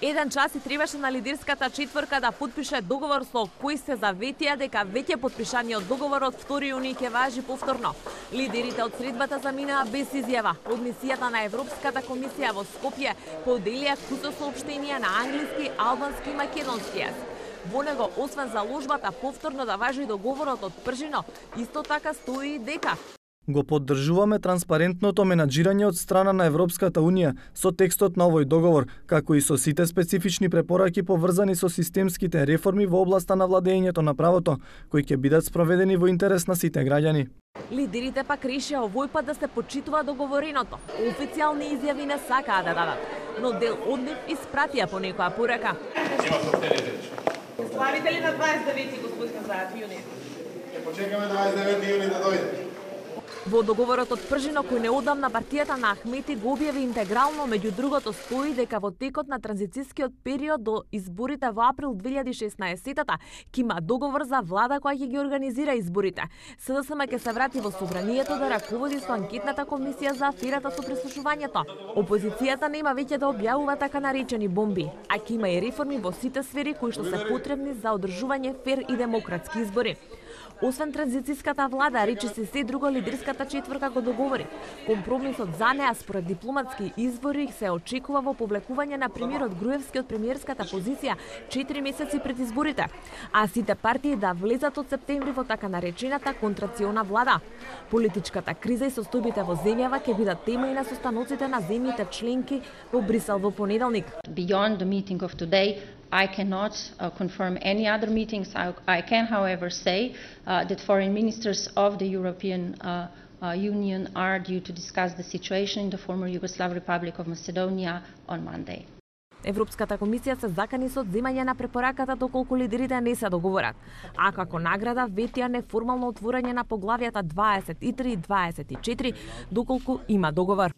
1 час и требаше на лидерската четворка да потпише договор со кој се заветија дека веќе потпишаниот договор од 2 јуни ќе важи повторно. Лидерите од средбата заминаа без изјава. Од мисијата на Европската комисија во Скопје поделија кусо соопштенија на англиски, албански и македонски јазик. Во него, освен заложбата повторно да важи договорот од Пржино, исто така стои и дека го поддржуваме транспарентното менаџирање од страна на Европската Унија со текстот на овој договор, како и со сите специфични препораки поврзани со системските реформи во областа на владењето на правото, кои ќе бидат спроведени во интерес на сите граѓани. Лидерите пак решија овој пат да се почитува договореното. Официјални изјави не сакаа да дадат, но дел од нив испратија по некоја порака. Славите ли на 29 господин Зајат јуни? Ќе почекаме 29 јуни да дојде. Во договорот од Пржино, кој неодамна партијата на Ахмети го објави интегрално, меѓу другото стои дека во текот на транзицискиот период до изборите во април 2016-та ќе има договор за влада која ќе ги организира изборите. СДСМ ќе се врати во собранието да раководи со анкетната комисија за аферата со прислушувањето. Опозицијата нема веќе да објавува така наречени бомби, а ќе има и реформи во сите сфери кои што се потребни за одржување фер и демократски избори. Освен транзициската влада, речиси се друго лидерската четворка го договори. Компромисот за неа според дипломатски извори се очекува во повлекување на премиерот Груевски од премиерската позиција 4 месеци пред изборите, а сите партии да влезат од септември во така наречената контрациона влада. Политичката криза и состојбите во земјава ќе бидат тема и на состаноците на земјите членки во Брисел во понеделник. Beyond the meeting of today, I cannot confirm any other meetings. I can, however, say that foreign ministers of the European Union are due to discuss the situation in the former Yugoslav Republic of Macedonia on Monday. Европската комисија се закани со одземање на препораката доколку лидерите не се договорат, а како награда ветија неформално отворање на поглавјата 23 и 24 доколку има договор.